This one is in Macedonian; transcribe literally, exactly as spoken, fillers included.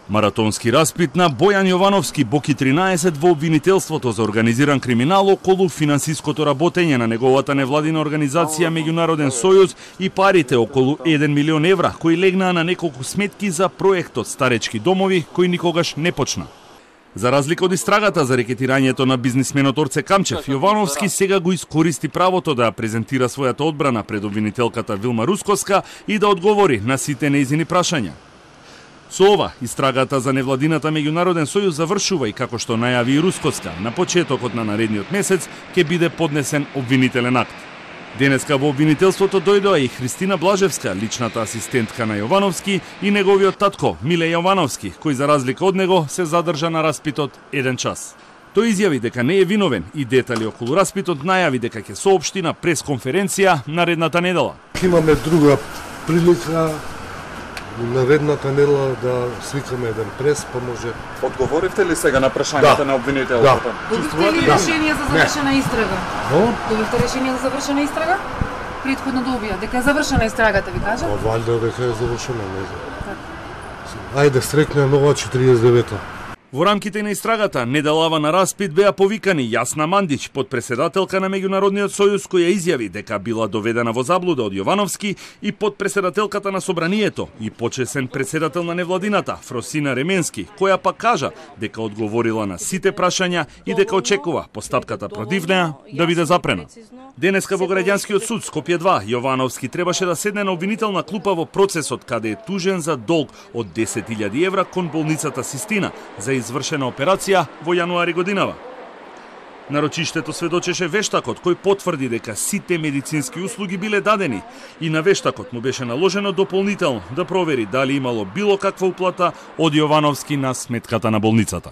Маратонски распит на Бојан Јовановски, Боки тринаесет, во обвинителството за организиран криминал околу финансиското работење на неговата невладина организација Меѓународен сојуз и парите околу еден милион евра кои легнаа на неколку сметки за проектот Старечки домови кој никогаш не почна. За разлика од истрагата за рекетирањето на бизнисменот Орце Камчев, Јовановски сега го искористи правото да презентира својата одбрана пред обвинителката Вилма Рускоска и да одговори на сите нејзини прашања. Со ова, истрагата за невладината Меѓународен сојуз завршува и како што најави и Рускоска, на почетокот на наредниот месец ќе биде поднесен обвинителен акт. Денеска во обвинителството дојдоа и Христина Блажевска, личната асистентка на Јовановски, и неговиот татко Миле Јовановски, кој за разлика од него се задржа на распитот еден час. Тој изјави дека не е виновен и детали околу распитот најави дека ќе соопшти на пресконференција наредната недела. Имаме друга прилика наредната недела да свикаме еден прес, па може. Одговоривте ли сега на прашањата да. на обвинителката? Да. Добивте ли решение за завршена истрага? Но? Добивте решение за завршена истрага? Претходно добија, дека е завршена истрагата, ви кажа? Па валјда дека е завршена, не знам. Ајде, стрекне нова четириесет и девета. Во рамките на истрагата, неделава на распит беа повикани Јасна Мандич, подпредседателка на Меѓународниот сојуз, која изјави дека била доведена во заблуда од Јовановски, и подпредседателката на Собранието и почесен председател на невладината Фросина Ременски, која пак кажа дека одговорила на сите прашања и дека очекува постапката против неа да биде запрена. Денеска во Граѓанскиот суд Скопје два, Јовановски требаше да седне на обвинителна клупа во процесот каде е тужен за долг од десет илјади евра кон болницата Систина за извршена операција во јануари годинава. Нарочиштето сведочеше вештакот кој потврди дека сите медицински услуги биле дадени и на вештакот му беше наложено дополнително да провери дали имало било каква уплата од Јовановски на сметката на болницата.